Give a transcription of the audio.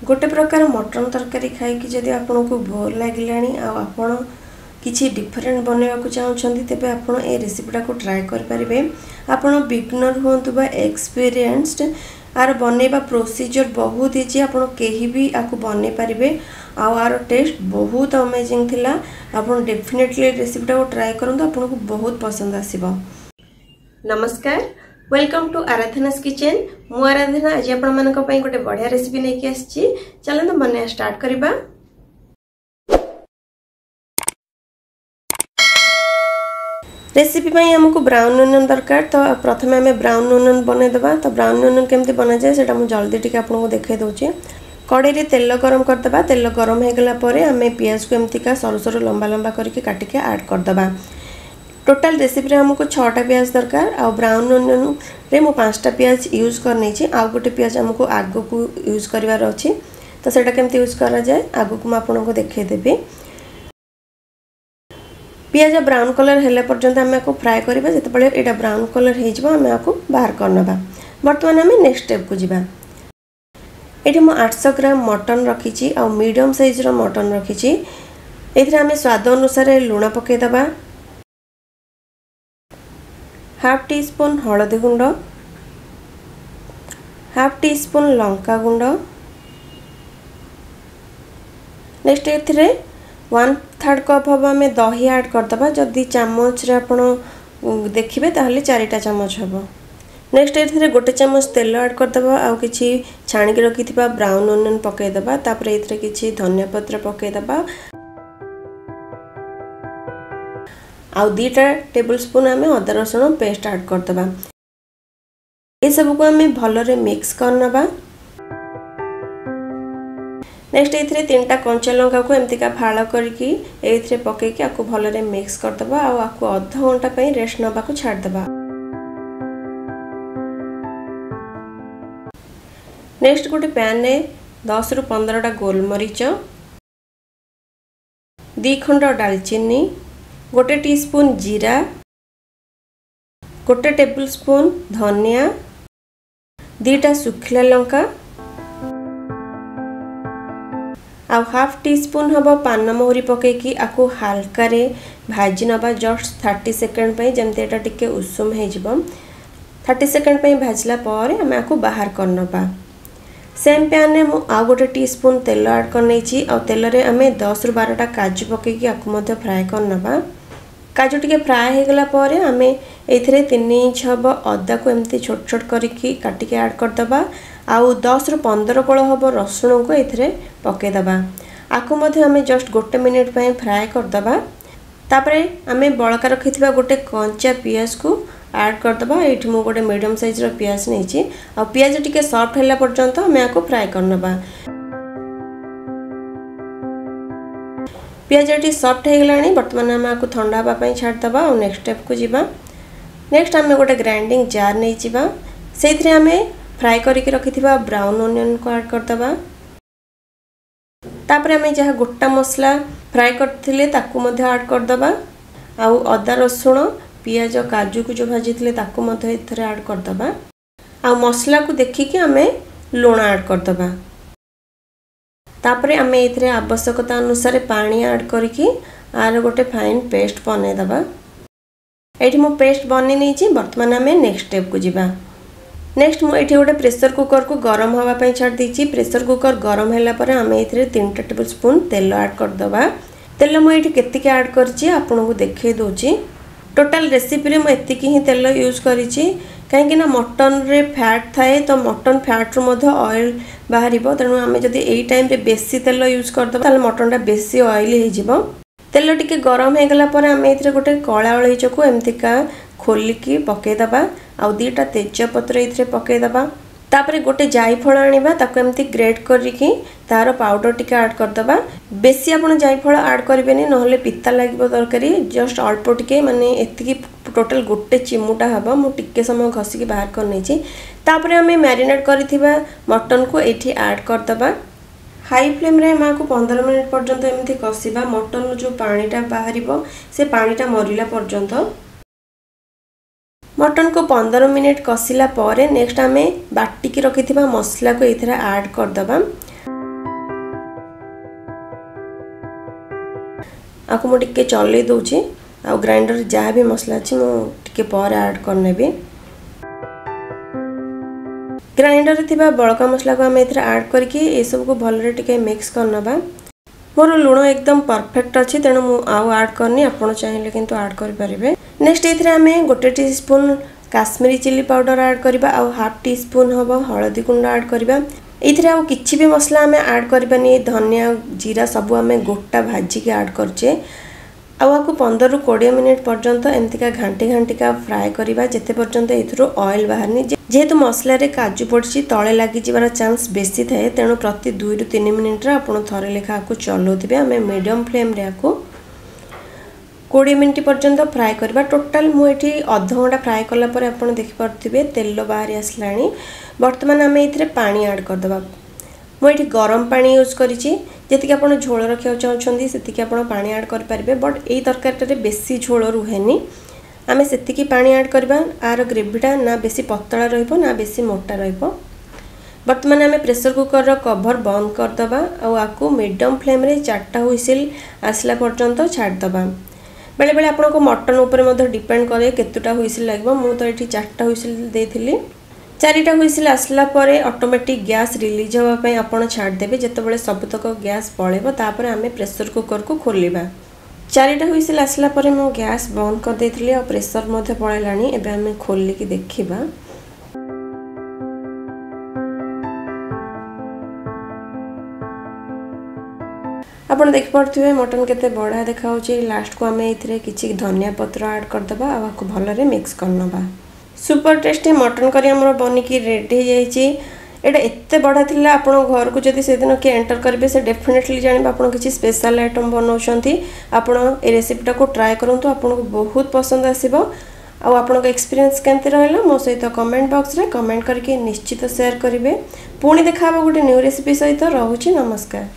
ଗୋଟେ ପ୍ରକାର ମଟନ୍ ତରକାରୀ ଖାଇକି ଯଦି ଆପଣଙ୍କୁ ବୋର୍ ଲାଗିଲାଣି ଆଉ ଆପଣ କିଛି ଡିଫରେଣ୍ଟ ବନେଇବାକୁ ଚାହୁଁଛନ୍ତି, ତେବେ ଆପଣ ଏ ରେସିପିଟାକୁ ଟ୍ରାଏ କରିପାରିବେ। ଆପଣ ବିଗନର୍ ହୁଅନ୍ତୁ ବା ଏକ୍ସପିରିଏନ୍ସଡ୍, ଆର ବନେଇବା ପ୍ରୋସିଜର୍ ବହୁତ ଇଜି। ଆପଣ କେହି ବି ଆକୁ ବନେଇ ପାରିବେ ଆଉ ଆର ଟେଷ୍ଟ ବହୁତ ଅମେଜିଂ ଥିଲା। ଆପଣ ଡେଫିନେଟଲି ଏ ରେସିପିଟାକୁ ଟ୍ରାଏ କରନ୍ତୁ, ଆପଣଙ୍କୁ ବହୁତ ପସନ୍ଦ ଆସିବ। ନମସ୍କାର, welcome to ଆରାଧନାସ୍ କିଚେନ୍। ମୁଁ ଆରାଧନା ଆଜି ଆପଣମାନଙ୍କ ପାଇଁ ଗୋଟେ ବଢ଼ିଆ ରେସିପି ନେଇକି ଆସିଛି। ଚାଲନ୍ତୁ ବନେଇବା ଷ୍ଟାର୍ଟ କରିବା। ରେସିପି ପାଇଁ ଆମକୁ ବ୍ରାଉନ୍ ଓନିଅନ୍ ଦରକାର, ତ ପ୍ରଥମେ ଆମେ ବ୍ରାଉନ୍ ଓନିଅନ୍ ବନେଇଦେବା। ତ ବ୍ରାଉନ୍ ଓନିଅନ୍ କେମିତି ବନାଯାଏ ସେଇଟା ମୁଁ ଜଲ୍ଦି ଟିକେ ଆପଣଙ୍କୁ ଦେଖାଇ ଦେଉଛି। କଡ଼େଇରେ ତେଲ ଗରମ କରିଦେବା। ତେଲ ଗରମ ହେଇଗଲା ପରେ ଆମେ ପିଆଜକୁ ଏମିତିକା ସରୁ ସରୁ ଲମ୍ବା ଲମ୍ବା କରିକି କାଟିକି ଆଡ଼୍ କରିଦେବା। ଟୋଟାଲ୍ ରେସିପିରେ ଆମକୁ 6ଟା ପିଆଜ ଦରକାର ଆଉ ବ୍ରାଉନ୍ ଓନିଅନ୍ରେ ମୁଁ 5ଟା ପିଆଜ ୟୁଜ୍ କରିନେଇଛି। ଆଉ ଗୋଟେ ପିଆଜ ଆମକୁ ଆଗକୁ ୟୁଜ୍ କରିବାର ଅଛି, ତ ସେଇଟା କେମିତି ୟୁଜ୍ କରାଯାଏ ଆଗକୁ ମୁଁ ଆପଣଙ୍କୁ ଦେଖାଇଦେବି। ପିଆଜ ବ୍ରାଉନ୍ କଲର୍ ହେଲା ପର୍ଯ୍ୟନ୍ତ ଆମେ ଆକୁ ଫ୍ରାଏ କରିବା। ଯେତେବେଳେ ଏଇଟା ବ୍ରାଉନ୍ କଲର୍ ହେଇଯିବ, ଆମେ ଆକୁ ବାହାର କରିନେବା। ବର୍ତ୍ତମାନ ଆମେ ନେକ୍ସଟ ଷ୍ଟେପ୍କୁ ଯିବା। ଏଠି ମୁଁ 800 ଗ୍ରାମ ମଟନ୍ ରଖିଛି ଆଉ ମିଡ଼ିୟମ୍ ସାଇଜ୍ର ମଟନ୍ ରଖିଛି। ଏଥିରେ ଆମେ ସ୍ୱାଦ ଅନୁସାରେ ଲୁଣ ପକାଇଦେବା, ହାଫ୍ ଟି ସ୍ପୁନ୍ ହଳଦୀ ଗୁଣ୍ଡ, ହାଫ୍ ଟି ସ୍ପୁନ୍ ଲଙ୍କା ଗୁଣ୍ଡ। ନେକ୍ସଟ ଏଥିରେ 1/3 କପ୍ ହେବ ଆମେ ଦହି ଆଡ଼୍ କରିଦେବା। ଯଦି ଚାମଚରେ ଆପଣ ଦେଖିବେ ତାହେଲେ 4ଟା ଚାମଚ ହେବ। ନେକ୍ସଟ ଏଥିରେ 1 ଚାମଚ ତେଲ ଆଡ଼୍ କରିଦେବା ଆଉ କିଛି ଛାଣିକି ରଖିଥିବା ବ୍ରାଉନ୍ ଓନିଅନ୍ ପକାଇଦେବା। ତାପରେ ଏଥିରେ କିଛି ଧନିଆ ପତ୍ର ପକାଇଦେବା ଆଉ 2ଟା ଟେବୁଲ୍ ସ୍ପୁନ୍ ଆମେ ଅଦା ରସୁଣ ପେଷ୍ଟ ଆଡ଼୍ କରିଦେବା। ଏସବୁକୁ ଆମେ ଭଲରେ ମିକ୍ସ କରିନେବା। ନେକ୍ସଟ ଏଥିରେ 3ଟା କଞ୍ଚା ଲଙ୍କାକୁ ଏମିତିକା ଫାଳ କରିକି ଏଇଥିରେ ପକାଇକି ଆକୁ ଭଲରେ ମିକ୍ସ କରିଦେବା ଆଉ ଆକୁ ଅଧ ଘଣ୍ଟା ପାଇଁ ରେଷ୍ଟ ନେବାକୁ ଛାଡ଼ିଦେବା। ନେକ୍ସଟ ଗୋଟେ ପ୍ୟାନ୍ରେ 10ରୁ 15ଟା ଗୋଲମରିଚ, 2 ଖଣ୍ଡ ଡାଲଚିନି, 1 ଟିସ୍ପୁନ୍ ଜିରା, 1 ଟେବୁଲ୍ ସ୍ପୁନ୍ ଧନିଆ, 2ଟା ଶୁଖିଲା ଲଙ୍କା ଆଉ ହାଫ୍ ଟି ସ୍ପୁନ୍ ହେବ ପାନମହୁରି ପକାଇକି ଆକୁ ହାଲକାରେ ଭାଜି ନେବା ଜଷ୍ଟ 30 ସେକେଣ୍ଡ ପାଇଁ, ଯେମିତି ଏଇଟା ଟିକେ ଉଷୁମ ହେଇଯିବ। 30 ସେକେଣ୍ଡ ପାଇଁ ଭାଜିଲା ପରେ ଆମେ ଆକୁ ବାହାର କରିନେବା। ସେମ୍ ପ୍ୟାନ୍ରେ ମୁଁ ଆଉ 1 ଟି ସ୍ପୁନ୍ ତେଲ ଆଡ଼୍ କରିନେଇଛି ଆଉ ତେଲରେ ଆମେ 10ରୁ 12ଟା କାଜୁ ପକାଇକି ଆକୁ ମଧ୍ୟ ଫ୍ରାଏ କରିନେବା। କାଜୁ ଟିକେ ଫ୍ରାଏ ହେଇଗଲା ପରେ ଆମେ ଏଇଥିରେ 3 ଇଞ୍ଚ ହେବ ଅଦାକୁ ଏମିତି ଛୋଟ ଛୋଟ କରିକି କାଟିକି ଆଡ଼୍ କରିଦେବା ଆଉ 10ରୁ 15 କୋଳ ହେବ ରସୁଣକୁ ଏଥିରେ ପକାଇଦେବା। ଆକୁ ମଧ୍ୟ ଆମେ ଜଷ୍ଟ 1 ମିନିଟ୍ ପାଇଁ ଫ୍ରାଏ କରିଦେବା। ତାପରେ ଆମେ ବଳକା ରଖିଥିବା ଗୋଟେ କଞ୍ଚା ପିଆଜକୁ ଆଡ଼୍ କରିଦେବା। ଏଇଠି ମୁଁ ଗୋଟେ ମିଡ଼ିୟମ୍ ସାଇଜ୍ର ପିଆଜ ନେଇଛି ଆଉ ପିଆଜ ଟିକେ ସଫ୍ଟ ହେଲା ପର୍ଯ୍ୟନ୍ତ ଆମେ ଆକୁ ଫ୍ରାଏ କରିନେବା। ପିଆଜଟି ସଫ୍ଟ ହେଇଗଲାଣି, ବର୍ତ୍ତମାନ ଆମେ ଆକୁ ଥଣ୍ଡା ହେବା ପାଇଁ ଛାଡ଼ିଦେବା ଆଉ ନେକ୍ସଟ ଷ୍ଟେପ୍କୁ ଯିବା। ନେକ୍ସଟ ଆମେ ଗୋଟେ ଗ୍ରାଇଣ୍ଡିଙ୍ଗ ଜାର୍ ନେଇଯିବା। ସେଇଥିରେ ଆମେ ଫ୍ରାଏ କରିକି ରଖିଥିବା ବ୍ରାଉନ୍ ଓନିଅନ୍କୁ ଆଡ଼୍ କରିଦେବା। ତାପରେ ଆମେ ଯାହା ଗୋଟା ମସଲା ଫ୍ରାଏ କରିଥିଲେ ତାକୁ ମଧ୍ୟ ଆଡ଼୍ କରିଦେବା ଆଉ ଅଦା ରସୁଣ ପିଆଜ କାଜୁକୁ ଯେଉଁ ଭାଜିଥିଲେ ତାକୁ ମଧ୍ୟ ଏଥିରେ ଆଡ଼୍ କରିଦେବା ଆଉ ମସଲାକୁ ଦେଖିକି ଆମେ ଲୁଣ ଆଡ଼୍ କରିଦେବା। ତାପରେ ଆମେ ଏଥିରେ ଆବଶ୍ୟକତା ଅନୁସାରେ ପାଣି ଆଡ଼୍ କରିକି ଆର ଗୋଟେ ଫାଇନ୍ ପେଷ୍ଟ ବନେଇଦେବା। ଏଇଠି ମୁଁ ପେଷ୍ଟ ବନେଇ ନେଇଛି। ବର୍ତ୍ତମାନ ଆମେ ନେକ୍ସଟ ଷ୍ଟେପ୍କୁ ଯିବା। ନେକ୍ସଟ ମୁଁ ଏଇଠି ଗୋଟେ ପ୍ରେସର କୁକରକୁ ଗରମ ହେବା ପାଇଁ ଛାଡ଼ି ଦେଇଛି। ପ୍ରେସର କୁକର ଗରମ ହେଲା ପରେ ଆମେ ଏଥିରେ 3ଟା ଟେବୁଲ୍ ସ୍ପୁନ୍ ତେଲ ଆଡ଼୍ କରିଦେବା। ତେଲ ମୁଁ ଏଇଠି କେତିକି ଆଡ଼୍ କରିଛି ଆପଣଙ୍କୁ ଦେଖାଇ ଦେଉଛି। ଟୋଟାଲ୍ ରେସିପିରେ ମୁଁ ଏତିକି ହିଁ ତେଲ ୟୁଜ୍ କରିଛି, କାହିଁକିନା ମଟନ୍ରେ ଫ୍ୟାଟ୍ ଥାଏ, ତ ମଟନ୍ ଫ୍ୟାଟ୍ରୁ ମଧ୍ୟ ଅଏଲ୍ ବାହାରିବ। ତେଣୁ ଆମେ ଯଦି ଏଇ ଟାଇମ୍ରେ ବେଶୀ ତେଲ ୟୁଜ୍ କରିଦେବା ତାହେଲେ ମଟନ୍ଟା ବେଶୀ ଅଏଲି ହେଇଯିବ। ତେଲ ଟିକେ ଗରମ ହେଇଗଲା ପରେ ଆମେ ଏଥିରେ ଗୋଟେ କଳା ଅଳେଇଚକୁ ଏମିତିକା ଖୋଲିକି ପକାଇଦେବା ଆଉ 2ଟା ତେଜପତ୍ର ଏଥିରେ ପକାଇଦେବା। ତାପରେ ଗୋଟେ ଜାଇଫଳ ଆଣିବା, ତାକୁ ଏମିତି ଗ୍ରେଟ୍ କରିକି ତାର ପାଉଡ଼ର ଟିକେ ଆଡ଼୍ କରିଦେବା। ବେଶୀ ଆପଣ ଜାଇଫଳ ଆଡ଼୍ କରିବେନି, ନହେଲେ ପିତା ଲାଗିବ ତରକାରୀ। ଜଷ୍ଟ ଅଳ୍ପ ଟିକେ, ମାନେ ଏତିକି ଟୋଟାଲ୍ ଗୋଟେ ଚିମୁଟା ହେବ। ମୁଁ ଟିକେ ସମୟ ଘଷିକି ବାହାର କରିନେଇଛି। ତାପରେ ଆମେ ମ୍ୟାରିନେଟ୍ କରିଥିବା ମଟନ୍କୁ ଏଇଠି ଆଡ଼୍ କରିଦେବା। ହାଇ ଫ୍ଲେମ୍ରେ ଆମେ ଆକୁ 15 ମିନିଟ୍ ପର୍ଯ୍ୟନ୍ତ ଏମିତି କଷିବା, ମଟନ୍ରୁ ଯେଉଁ ପାଣିଟା ବାହାରିବ ସେ ପାଣିଟା ମରିଲା ପର୍ଯ୍ୟନ୍ତ। ମଟନକୁ 15 ମିନିଟ୍ କଷିଲା ପରେ ନେକ୍ସଟ ଆମେ ବାଟିକି ରଖିଥିବା ମସଲାକୁ ଏଥିରେ ଆଡ଼୍ କରିଦେବା। ଆକୁ ମୁଁ ଟିକେ ଚଲେଇ ଦେଉଛି। ଆଉ ଗ୍ରାଇଣ୍ଡର ଯାହା ବି ମସଲା ଅଛି ମୁଁ ଟିକେ ପରେ ଆଡ଼୍ କରିନେବି। ଗ୍ରାଇଣ୍ଡରରେ ଥିବା ବଳକା ମସଲାକୁ ଆମେ ଏଥିରେ ଆଡ଼୍ କରିକି ଏସବୁକୁ ଭଲରେ ଟିକେ ମିକ୍ସ କରିନେବା। ମୋର ଲୁଣ ଏକଦମ ପରଫେକ୍ଟ ଅଛି, ତେଣୁ ମୁଁ ଆଉ ଆଡ଼୍ କରିନି। ଆପଣ ଚାହିଁଲେ କିନ୍ତୁ ଆଡ଼୍ କରିପାରିବେ। ନେକ୍ସଟ ଏଥିରେ ଆମେ 1 teaspoon Kashmiri chilli powder add କରିବା ଆଉ ହାଫ୍ ଟି ସ୍ପୁନ୍ ହେବ ହଳଦୀ ଗୁଣ୍ଡ ଆଡ଼୍ କରିବା। ଏଇଥିରେ ଆଉ କିଛି ବି ମସଲା ଆମେ ଆଡ଼୍ କରିବାନି। ଧନିଆ ଜିରା ସବୁ ଆମେ ଗୋଟା ଭାଜିକି ଆଡ଼୍ କରିଛେ। ଆଉ ଆକୁ 15ରୁ 20 ମିନିଟ୍ ପର୍ଯ୍ୟନ୍ତ ଏମିତିକା ଘାଣ୍ଟି ଘାଣ୍ଟିକା ଫ୍ରାଏ କରିବା, ଯେତେ ପର୍ଯ୍ୟନ୍ତ ଏଥିରୁ ଅଏଲ୍ ବାହାରିନି। ଯେହେତୁ ମସଲାରେ କାଜୁ ପଡ଼ିଛି, ତଳେ ଲାଗିଯିବାର ଚାନ୍ସ ବେଶୀ ଥାଏ, ତେଣୁ ପ୍ରତି 2ରୁ 3 ମିନିଟ୍ରେ ଆପଣ ଥରେ ଲେଖା ଆକୁ ଚଲାଉଥିବେ। ଆମେ ମିଡ଼ିୟମ୍ ଫ୍ଲେମ୍ରେ ଆକୁ 20 ମିନିଟ୍ ପର୍ଯ୍ୟନ୍ତ ଫ୍ରାଏ କରିବା। ଟୋଟାଲ୍ ମୁଁ ଏଠି ଅଧଘଣ୍ଟା ଫ୍ରାଏ କଲା ପରେ ଆପଣ ଦେଖିପାରୁଥିବେ ତେଲ ବାହାରି ଆସିଲାଣି। ବର୍ତ୍ତମାନ ଆମେ ଏଥିରେ ପାଣି ଆଡ଼୍ କରିଦେବା। ମୁଁ ଏଠି ଗରମ ପାଣି ୟୁଜ୍ କରିଛି। ଯେତିକି ଆପଣ ଝୋଳ ରଖିବାକୁ ଚାହୁଁଛନ୍ତି ସେତିକି ଆପଣ ପାଣି ଆଡ଼୍ କରିପାରିବେ, ବଟ୍ ଏଇ ତରକାରୀଟାରେ ବେଶୀ ଝୋଳ ରୁହେନି। ଆମେ ସେତିକି ପାଣି ଆଡ଼୍ କରିବା, ଆର ଗ୍ରେଭିଟା ନା ବେଶୀ ପତଳା ରହିବ ନା ବେଶୀ ମୋଟା ରହିବ। ବର୍ତ୍ତମାନ ଆମେ ପ୍ରେସର କୁକର୍ର କଭର୍ ବନ୍ଦ କରିଦେବା ଆଉ ଆକୁ ମିଡ଼ିୟମ୍ ଫ୍ଲେମ୍ରେ 4ଟା ହୁଇସିଲ୍ ଆସିଲା ପର୍ଯ୍ୟନ୍ତ ଛାଡ଼ିଦେବା। ବେଳେବେଳେ ଆପଣଙ୍କ ମଟନ୍ ଉପରେ ମଧ୍ୟ ଡିପେଣ୍ଡ କରେ କେତେଟା ହୁଇସିଲ୍ ଲାଗିବ। ମୁଁ ତ ଏଠି 4ଟା ହୁଇସିଲ୍ ଦେଇଥିଲି। 4ଟା ହୁଇସିଲ୍ ଆସିଲା ପରେ ଅଟୋମେଟିକ୍ ଗ୍ୟାସ୍ ରିଲିଜ୍ ହେବା ପାଇଁ ଆପଣ ଛାଡ଼ିଦେବେ। ଯେତେବେଳେ ସବୁତକ ଗ୍ୟାସ୍ ପଳେଇବ ତାପରେ ଆମେ ପ୍ରେସର କୁକର୍କୁ ଖୋଲିବା। 4ଟା ହୁଇସିଲ୍ ଆସିଲା ପରେ ମୁଁ ଗ୍ୟାସ୍ ବନ୍ଦ କରିଦେଇଥିଲି ଆଉ ପ୍ରେସର ମଧ୍ୟ ପଳେଇଲାଣି। ଏବେ ଆମେ ଖୋଲିକି ଦେଖିବା। ଆପଣ ଦେଖିପାରୁଥିବେ ମଟନ୍ କେତେ ବଢ଼ିଆ ଦେଖାହେଉଛି। ଲାଷ୍ଟକୁ ଆମେ ଏଥିରେ କିଛି ଧନିଆ ପତ୍ର ଆଡ଼୍ କରିଦେବା ଆଉ ଆକୁ ଭଲରେ ମିକ୍ସ କରିନେବା। ସୁପର ଟେଷ୍ଟି ମଟନ୍ କରି ଆମର ବନିକି ରେଡ଼ି ହେଇଯାଇଛି। ଏଇଟା ଏତେ ବଢ଼ିଆ ଥିଲା, ଆପଣ ଘରକୁ ଯଦି ସେଦିନ କିଏ ଏଣ୍ଟର କରିବେ ସେ ଡେଫିନେଟଲି ଜାଣିବେ ଆପଣ କିଛି ସ୍ପେଶାଲ ଆଇଟମ୍ ବନାଉଛନ୍ତି। ଆପଣ ଏ ରେସିପିଟାକୁ ଟ୍ରାଏ କରନ୍ତୁ, ଆପଣଙ୍କୁ ବହୁତ ପସନ୍ଦ ଆସିବ। ଆଉ ଆପଣଙ୍କ ଏକ୍ସପିରିଏନ୍ସ କେମିତି ରହିଲା ମୋ ସହିତ କମେଣ୍ଟ ବକ୍ସରେ କମେଣ୍ଟ କରିକି ନିଶ୍ଚିତ ସେୟାର କରିବେ। ପୁଣି ଦେଖା ହେବ ଗୋଟେ ନ୍ୟୁ ରେସିପି ସହିତ। ରହୁଛି, ନମସ୍କାର।